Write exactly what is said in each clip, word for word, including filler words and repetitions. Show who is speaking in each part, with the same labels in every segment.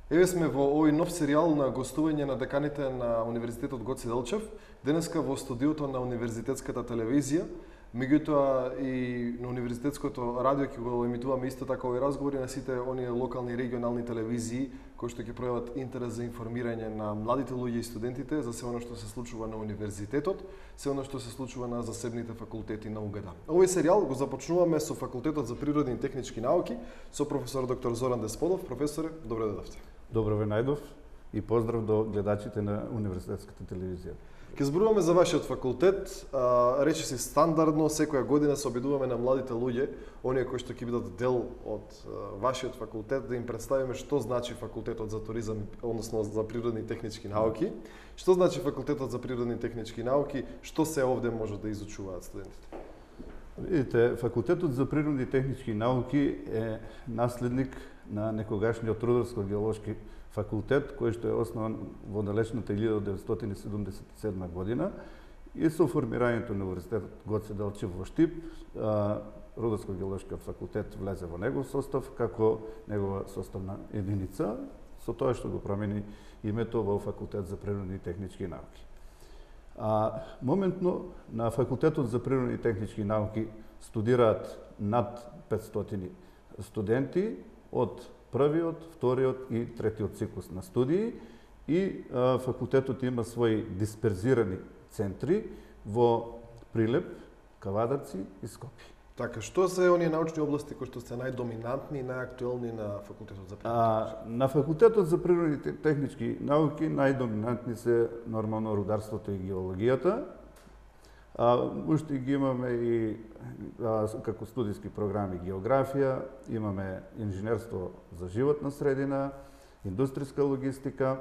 Speaker 1: Еве сме во овој нов серијал на гостување на деканите на Универзитетот Гоце Делчев, денеска во студиото на Универзитетската телевизија, меѓутоа и на Универзитетското радио ќе го емитуваме исто така овој разговори на сите оние локални и регионални телевизии кои што ќе пројават интерес за информирање на младите луѓе и студентите за се оно што се случува на универзитетот, се оно што се случува на засебните факултети на УГД. Овој серијал го започнуваме со Факултетот за природни и технички науки со професор доктор Зоран Десподов. Професоре, добре дојдовте.
Speaker 2: Добро ве најдов и поздрав до гледачите на Универзитетската телевизија.
Speaker 1: Ке зборуваме за вашиот факултет. А, рече си стандардно, секоја година се обидуваме на младите луѓе, оние кои што ќе бидат дел од а, вашиот факултет, да им представиме што значи факултетот за туризам, односно за природни и технички науки. Што значи факултетот за природни и технички науки, што се овде може да изучуваат студентите?
Speaker 2: Видите, факултетот за природни и технички науки е наследник на некогашниот Рударско-геолошки факултет, кој што е основан во далечната илјада деветстотини седумдесет и седма година и со формирањето на Универзитетот Гоце Делчев во Штип, Рударско-геолошкиот факултет влезе во негов состав како негова составна единица, со тоа што го промени името во Факултет за природни и технички науки. А моментно на Факултетот за природни и технички науки студираат над петстотини студенти од првиот, вториот и третиот циклус на студии и а, факултетот има своји дисперзирани центри во Прилеп, Кавадарци и Скопје.
Speaker 1: Така, што се оние научни области кои што се најдоминантни и најактуелни на факултетот за природни?
Speaker 2: А, на Факултетот за природни и технички науки најдоминантни се нормално рударството и геологијата. А, уште ги имаме и а, како студиски програми географија, имаме инженерство за животна средина, индустријска логистика,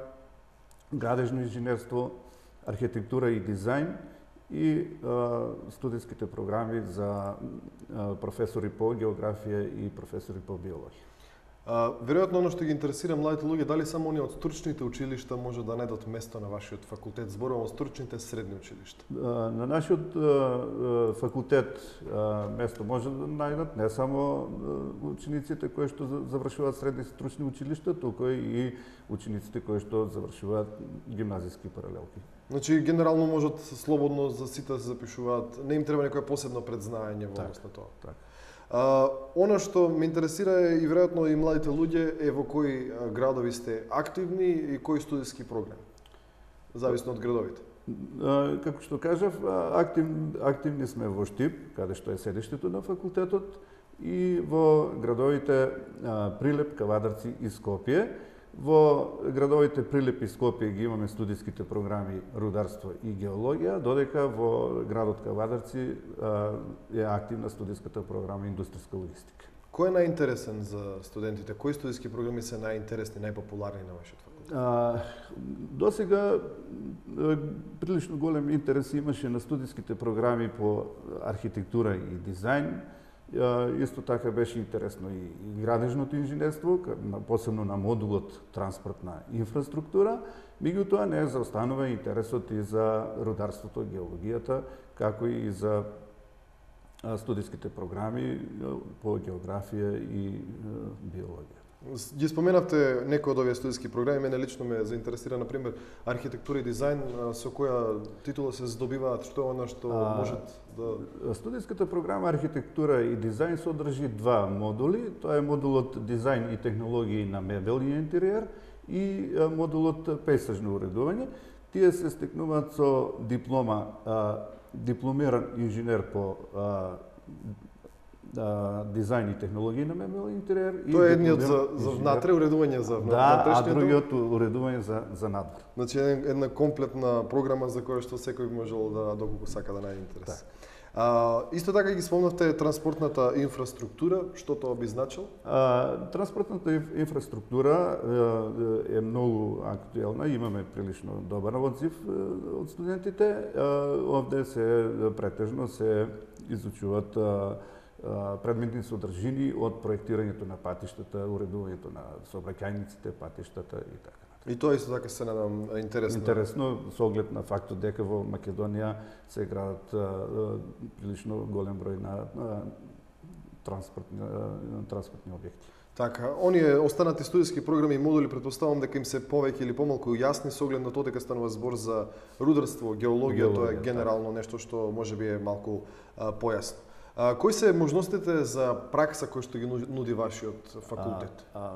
Speaker 2: градежно инженерство, архитектура и дизајн и а, студиските програми за а, професори по географија и професори по биологија.
Speaker 1: А, веројатно оно што ги интересира младите луѓе, дали само оние од стручните училишта може да најдат место на вашиот факултет? Зборувам од стручните средни училишта.
Speaker 2: А, на нашиот а, факултет а, место може да најдат не само а, учениците кои што завршуваат средни стручни училишта, туку и учениците кои што завршуваат гимназиски паралелки.
Speaker 1: Значи, генерално можат слободно за сите да се запишуваат, не им треба некое посебно предзнаење во однос на тоа.
Speaker 2: Так.
Speaker 1: А, она што ме интересира е и веројатно и младите луѓе е во кои градови сте активни и кои студиски програми, зависно од градовите.
Speaker 2: А, како што кажав, актив, активни сме во Штип, каде што е седиштето на факултетот, и во градовите а, Прилеп, Кавадарци и Скопје. Во градовите Прилеп и Скопје ги имаме студиските програми рударство и геологија, додека во градот Кавадарци а, е активна студиската програма индустријска логистика.
Speaker 1: Кој е најинтересен за студентите? Кои студиски програми се најинтересни, најпопуларни на вашиот факултет?
Speaker 2: А, до сега прилично голем интерес имаше на студиските програми по архитектура и дизајн. Исто така беше интересно и градежното инженерство, посебно на модулот транспортна инфраструктура, меѓутоа не заостанува интересот и за рударството, геологијата, како и за студиските програми по географија и биологија.
Speaker 1: Ги споменавте некои од овие студиски програми, мене лично ме заинтересира, например, архитектура и дизајн, со која титула се здобиваат, што е она што
Speaker 2: а,
Speaker 1: можат да...
Speaker 2: Студиската програма архитектура и дизајн содржи два модули, тоа е модулот дизајн и технологии на мебел и интериер и модулот пейсажно уредување. Тие се стекнуваат со диплома, а, дипломиран инженер по а, Да, дизајн и технологии на мебел и интериер.
Speaker 1: Тоа е едниот за, за внатре, уредување за
Speaker 2: внатрешниот. Да, а другиот уредување за, за надвор.
Speaker 1: Значи една комплетна програма за која што секој можел да доколку сака да најде интерес.
Speaker 2: Так.
Speaker 1: А, исто така ги спомнавте транспортната инфраструктура, што тоа би значило?
Speaker 2: А, транспортната инфраструктура е, е многу актуелна, имаме прилично добар одзив од студентите. Овде се претежно се изучуваат предметни содржини од проектирањето на патиштата, уредувањето на сообраќајниците, патиштата и така.
Speaker 1: И тоа исто така се надам интересно.
Speaker 2: Интересно со оглед на фактот дека во Македонија се градат а, прилично голем број на а, транспортни, транспортни објекти.
Speaker 1: Така, оние останати студиски програми и модули претпоставувам дека им се повеќе или помалку јасни со оглед на тоа дека станува збор за рударство, геологија, тоа е генерално нешто што можеби е малку а, појасно. А, кои се можностите за пракса кои што ги нуди вашиот факултет?
Speaker 2: А, а,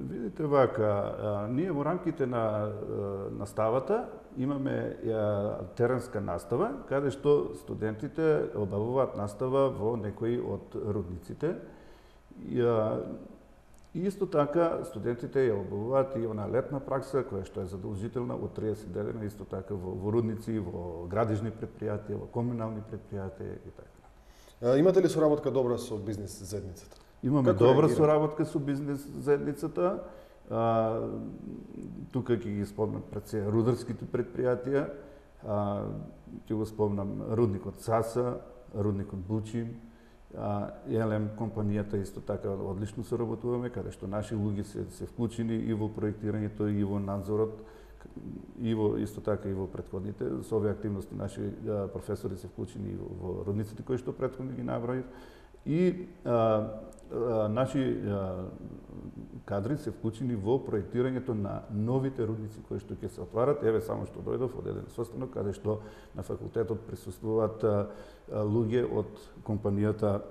Speaker 2: видите вака, а, ние во рамките на а, наставата имаме а, теренска настава, каде што студентите обавуваат настава во некои од рудниците. И, а, И исто така, студентите ја обавуваат и она летна пракса, која што е задолжителна од триесет дена, исто така во, во рудници, во градежни предпријатија, во комунални предпријатија и така.
Speaker 1: А, имате ли соработка добра со бизнес заедницата?
Speaker 2: Имаме Како добра соработка со бизнес заедницата. А, тука ќе ги спомнам пред се рударските предпријатија, а, ќе го спомнам рудникот Саса, рудникот Бучим, Елем компанијата исто така одлично соработуваме, каде што наши луѓе се, се вклучени и во проектирањето, и во надзорот, и во исто така и во претходните. Со овие активности наши а, професори се вклучени и во, во родниците кои што претходно ги наброив. И а, а, наши а, кадри се вклучени во проектирањето на новите рудници кои што ќе се отварат. Еве само што дојдов од еден состанок каде што на факултетот присуствуваат а, а, луѓе од компанијата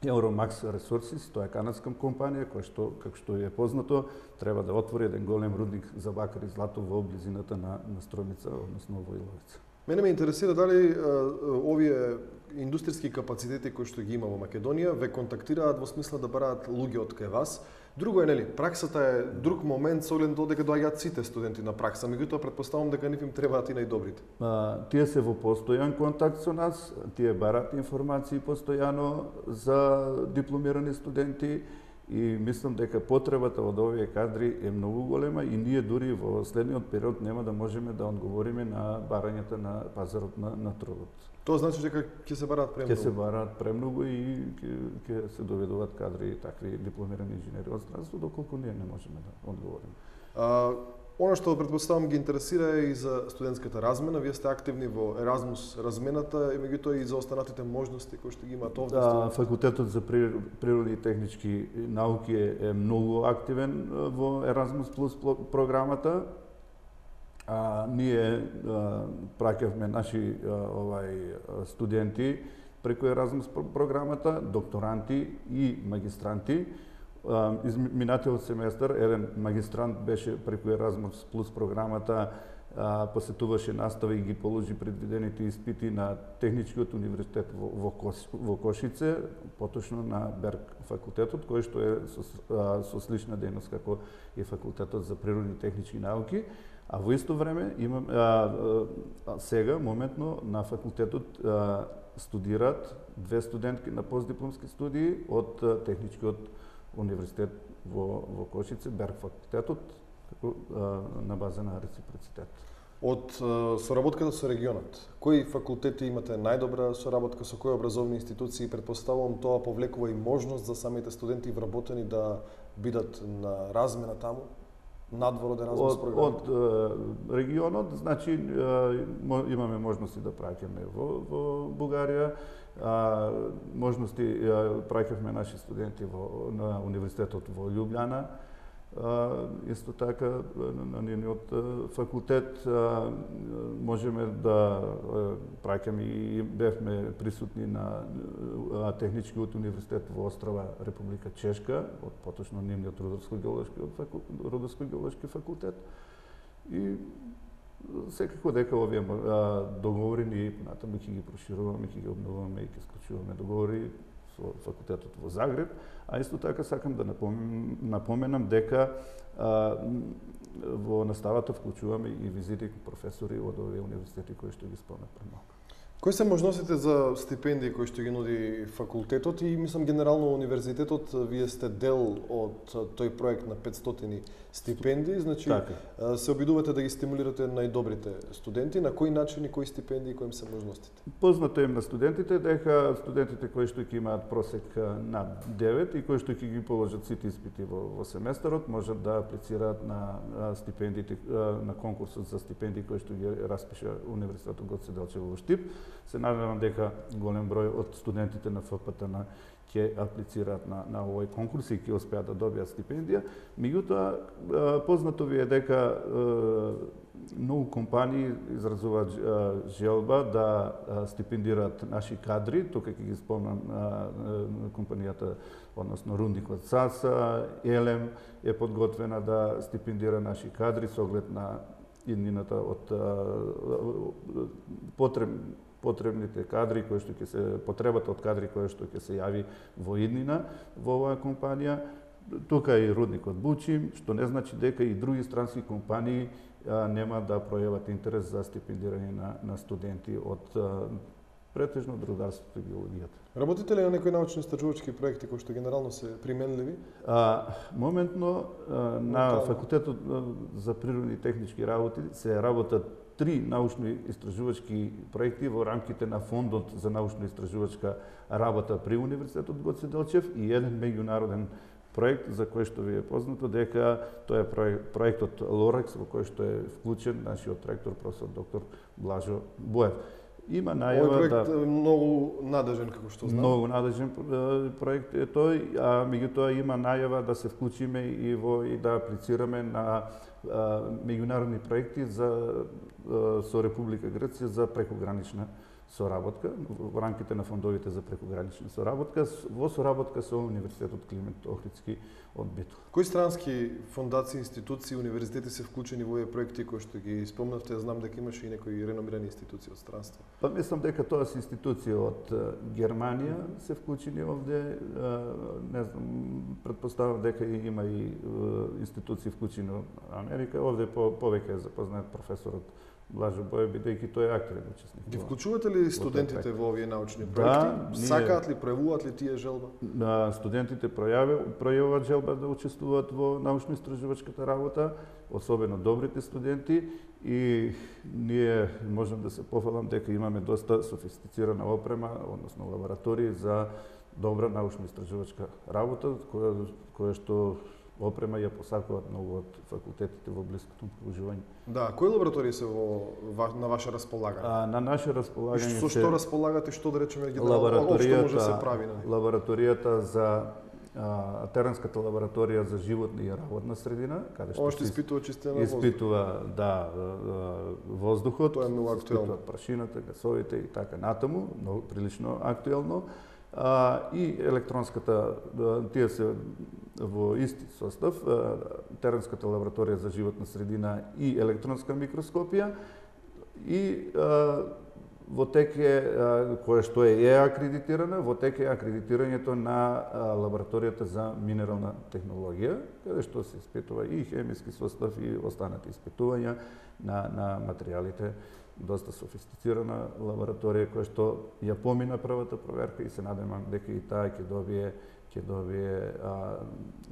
Speaker 2: Euromax Resources, тоа е канадска компанија која што, како што е познато, треба да отвори еден голем рудник за бакар и злато во близината на, на Стројница, односно во Иловица.
Speaker 1: Мене ме интересира дали а, овие индустријски капацитети кои што ги има во Македонија ве контактираат во смисла да бараат луѓе од кај вас. Друго е, нели, праксата е друг момент со оглед на тоа дека доаѓаат сите студенти на пракса, меѓутоа претпоставам дека нив им требаат и најдобрите.
Speaker 2: А, тие се во постојан контакт со нас, тие бараат информации постојано за дипломирани студенти и мислам дека потребата од овие кадри е многу голема и ние дури во следниот период нема да можеме да одговориме на барањата на пазарот на, на трудот.
Speaker 1: Тоа значи дека ќе се бараат премногу.
Speaker 2: Ќе се бараат премногу и ќе се доведуваат кадри такви дипломирани инженери од странство, доколку ние не можеме да одговориме.
Speaker 1: А, Она што претпоставам ги интересира е и за студентската размена. Вие сте активни во Еразмус размената и меѓутоа и за останатите можности кои што ги имаат овде.
Speaker 2: Да, факултетот за природни и технички науки е, е многу активен во Еразмус плюс програмата. А, ние а, праќавме наши а, овај студенти преку Еразмус програмата, докторанти и магистранти. Из минатиот семестар еден магистрант беше преку Еразмус плюс програмата, а, посетуваше настава и ги положи предвидените испити на Техничкиот универзитет во, во, Кос, во Кошице, поточно на Берг факултетот, кој што е со, а, со слична дејност како и факултетот за природни и технички науки. А во исто време имам а, а, сега моментно на факултетот а, студираат две студентки на постдипломски студии од а, Техничкиот универзитет во, во Кошице, Берг факултетот, како а, на база на реципроцитет.
Speaker 1: Од а, соработката со регионот, кои факултети имате најдобра соработка со кои образовни институции? Претпоставувам тоа повлекува и можност за самите студенти вработени да бидат на размена таму, надвор од Еразмус програмата?
Speaker 2: Од регионот, значи имаме можности да праќаме во, во Бугарија, а, можности праќавме наши студенти во, на универзитетот во Љубљана, а, исто така на нивниот факултет а, можеме да праќаме и бевме присутни на Техничкиот универзитет во Острава, Република Чешка, од поточно нивниот рударско-геолошки рударско-геолошки факултет. И секако дека овие договори ние понатаму ќе ги прошируваме, ќе ги обновуваме и ќе склучуваме договори со факултетот во Загреб, а исто така сакам да напоменам, напоменам дека а, во наставата вклучуваме и визити професори од овие универзитети кои што ги спомнав пред малку.
Speaker 1: Кои се можностите за стипендии кои што ги нуди факултетот и мислам генерално универзитетот, вие сте дел од тој проект на петстотини стипендии, значи
Speaker 2: така.
Speaker 1: Се обидувате да ги стимулирате најдобрите студенти, на кои начини, кои стипендии, кои им се можностите?
Speaker 2: Познато им на студентите дека студентите кои што ќе имаат просек над девет и кои што ќе ги положат сите испити во, во семестарот, можат да аплицираат на, на стипендиите на конкурсот за стипендии кои што ги распиша Универзитетот Гоце Делчев во Штип. Се надевам дека голем број од студентите на ФПТ-на ќе аплицираат на, на овој конкурс и ќе успеат да добијат стипендија. Меѓутоа, познато ви е дека многу компании изразуваат желба да стипендираат наши кадри. Тука ќе ги спомнам компанијата, односно Рундик од САСА, Елем е подготвена да стипендира наши кадри со оглед на иднината од потреб, потребните кадри кои што ќе се потребата од кадри кои што ќе се јави во иднина во оваа компанија. Тука е и Рудникот Бучим, што не значи дека и други странски компании а, нема да пројават интерес за стипендирање на, на студенти од а, претежно од рударството и геологијата.
Speaker 1: Работите ли на некои научно-истражувачки проекти кои што генерално се применливи?
Speaker 2: А, моментно а, на Факултетот за природни и технички работи се работат три научно-истражувачки проекти во рамките на Фондот за научно-истражувачка работа при Универзитетот Гоце Делчев и еден меѓународен проект за кој што ви е познато дека тоа е проектот Лорекс во кој што е вклучен нашиот ректор професор доктор Блажо Боев. Има најава
Speaker 1: Овој проект
Speaker 2: да
Speaker 1: е многу надежен, како што знам.
Speaker 2: Многу надежен проект е тој, а меѓутоа има најава да се вклучиме и во и да аплицираме на а, меѓународни проекти за а, со Република Грција за прекогранична соработка во рамките на фондовите за прекогранична соработка во соработка со Универзитетот Климент Охридски од Битол.
Speaker 1: Кои странски фондации, институции, универзитети се вклучени во овие проекти кои што ги спомнавте? Знам дека имаше и некои реномирани институции од странство.
Speaker 2: Па мислам дека тоа се институции од Германија се вклучени овде, не знам, претпоставам дека има и институции вклучени од Америка. Овде по, повеќе е запознат професорот Блажо Боев, бидејќи тој е активен учесник.
Speaker 1: Ги вклучувате ли студентите во овие научни проекти?
Speaker 2: Да, ние...
Speaker 1: Сакаат ли, пројавуваат ли тие желба?
Speaker 2: Да, студентите пројавуваат желба да учествуваат во научно-истражувачката работа, особено добрите студенти, и ние можем да се пофалам дека имаме доста софистицирана опрема, односно лаборатории за добра научно-истражувачка работа, која, која што опрема ја посакуваат многу од факултетите во блиското окружување.
Speaker 1: Да, кои лаборатории се во на ваше располагање?
Speaker 2: А, на наше располагање
Speaker 1: со што располагате, што да речеме генерално што може да се прави на него?
Speaker 2: Лабораторијата за а, Теренската лабораторија за животна и работна средина, каде што
Speaker 1: Ошто испитува чистина на воздух.
Speaker 2: Испитува, да, воздухот,
Speaker 1: тоа е многу актуелно.
Speaker 2: Прашината, гасовите и така натаму, многу прилично актуелно. А, и електронската, тие се во исти состав, Теренската лабораторија за животна средина и електронска микроскопија, и а, во тек е, кое што е, е акредитирана, во тек е акредитирањето на а, лабораторијата за минерална технологија, каде што се испитува и хемиски состав и останати испитувања на, на материјалите. Доста софистицирана лабораторија која што ја помина првата проверка и се надевам дека и таа ќе добие ќе добие а,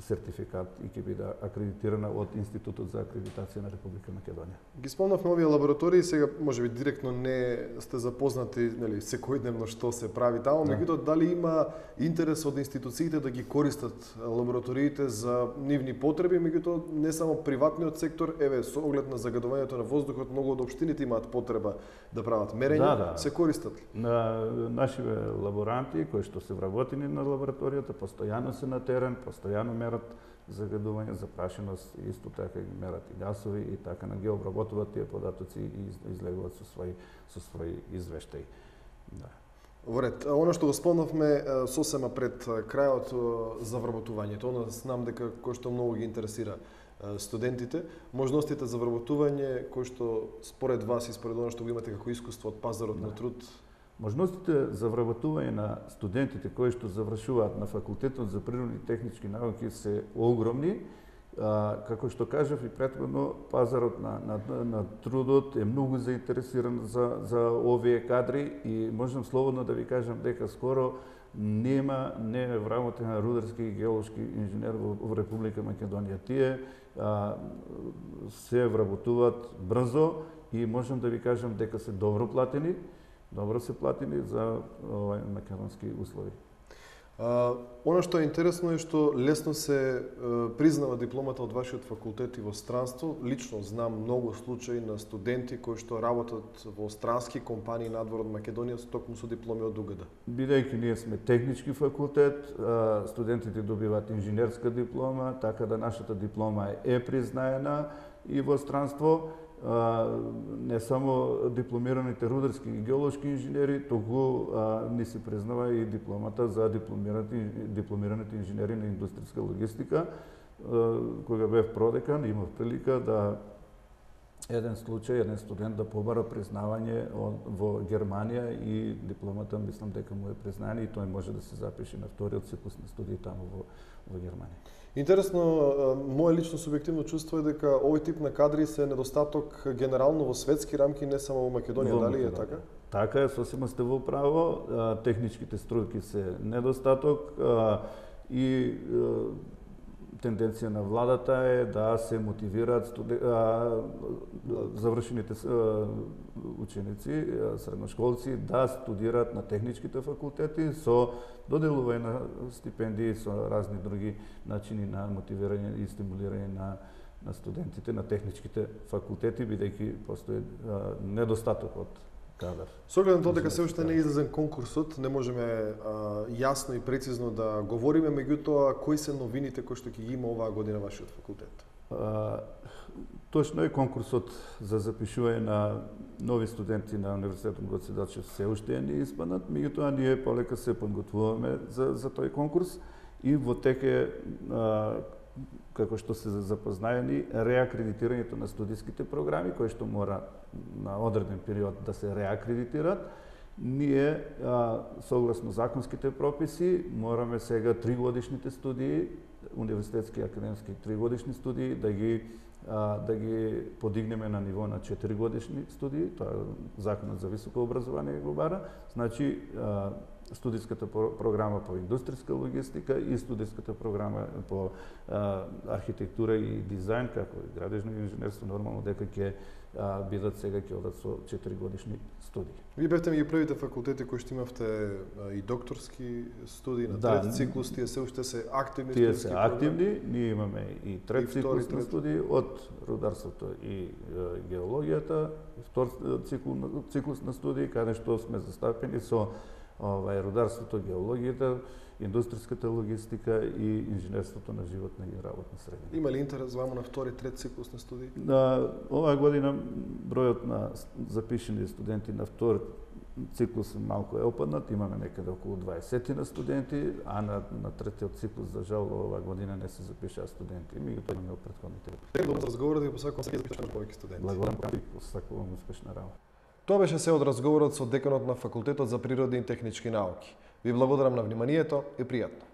Speaker 2: сертификат и ќе биде акредитирана од Институтот за акредитација на Република Македонија.
Speaker 1: Ги спомнавме овие лаборатории, сега можеби директно не сте запознати, нели, секојдневно што се прави таму, да. Меѓутоа дали има интерес од институциите да ги користат лабораториите за нивни потреби, меѓутоа не само приватниот сектор, еве со оглед на загадувањето на воздухот, многу од општините имаат потреба да прават мерења, да, да. Се користат ли?
Speaker 2: На нашиве лаборанти кои што се вработени на лабораторијата постојано се на терен, постојано мерат загадување, запрашеност, исто така ги мерат и гасови и така на ги обработуваат тие податоци и излегуваат со свој со свој извештај. Да.
Speaker 1: Во ред, оно што го спомнавме сосема пред крајот за вработувањето, оно знам дека кој што многу ги интересира студентите, можностите за вработување кои што според вас и според оно што го имате како искуство од пазарот да. На труд.
Speaker 2: Можностите за вработување на студентите кои што завршуваат на Факултетот за природни и технички науки се огромни. А, како што кажав и претходно, пазарот на, на, на трудот е многу заинтересиран за, за овие кадри и можам слободно да ви кажам дека скоро нема не е вработен рударски и геолошки инженер во, во Република Македонија. Тие а, се вработуваат брзо и можам да ви кажам дека се добро платени, добро се платени за овај македонски услови.
Speaker 1: А, Оно што е интересно е што лесно се а, признава дипломата од вашиот факултет и во странство. Лично знам многу случаи на студенти кои што работат во странски компании надвор од Македонија токму со дипломи од УГД.
Speaker 2: Бидејќи ние сме технички факултет, студентите добиваат инженерска диплома, така да нашата диплома е признаена и во странство. Не само дипломираните рударски и геолошки инженери, туку ни се признава и дипломата за дипломираните, дипломираните инженери на индустријска логистика. Кога бев продекан, имав прилика да еден случај, еден студент да побара признавање во Германија и дипломата мислам дека му е признаена и тој може да се запише на вториот циклус на студии таму во, во Германија.
Speaker 1: Интересно, моје лично субјективно чувство е дека овој тип на кадри се недостаток генерално во светски рамки, не само во Македонија, во дали е така?
Speaker 2: Така е, сосема сте во право, техничките струјки се недостаток и тенденција на владата е да се мотивираат студе... завршените ученици, средношколци да студираат на техничките факултети со доделување на стипендии, со разни други начини на мотивирање и стимулирање на на студентите на техничките факултети, бидејќи постои недостаток од кадар.
Speaker 1: Со оглед на тоа дека се уште не е излезен конкурсот, не можеме а, јасно и прецизно да говориме, меѓутоа кои се новините кои што ќе ги има оваа година вашиот факултет?
Speaker 2: А, точно е, конкурсот за запишување на нови студенти на Универзитетот Гоце Делчев се уште не испаднат, меѓутоа ние полека се подготвуваме за за тој конкурс и во теке како што се запознаени реакредитирањето на студиските програми кои што мора на одреден период да се реакредитираат. Ние а, согласно законските прописи мораме сега тригодишните студии, универзитетски и академски тригодишни студии да ги а, да ги подигнеме на ниво на четиригодишни студии, тоа законот за високо образование го бара. Значи а, студиската програма по индустријска логистика и студиската програма по а, архитектура и дизајн, како и градежно инженерство, нормално дека ќе бидат сега ќе одат со четиригодишни студии.
Speaker 1: Вие бевте меѓу првите факултети кои што имавте а, и докторски студии на да, трет циклус, тие се уште се активни
Speaker 2: тие
Speaker 1: студиски
Speaker 2: се активни, ние имаме и трет
Speaker 1: и
Speaker 2: циклус
Speaker 1: втори,
Speaker 2: на студии од рударството и е, геологијата, и втор циклус, циклус на студии каде што сме застапени со овај рударството, геологијата, индустријската логистика и инженерството на животна и работна средина.
Speaker 1: Има ли интерес ваму на втори, трет циклус на студии?
Speaker 2: На оваа година бројот на запишени студенти на втор циклус малку е опаднат, имаме некаде околу дваесет на студенти, а на, на третиот циклус, за жал, оваа година не се запишаа студенти, меѓутоа имаме од претходните.
Speaker 1: Благодарам за разговорот и посакувам се да запишаме повеќе студенти.
Speaker 2: Благодарам и посакувам успешна работа.
Speaker 1: Тоа беше се од разговорот со деканот на Факултетот за природни и технички науки. Ви благодарам на вниманието и пријатно.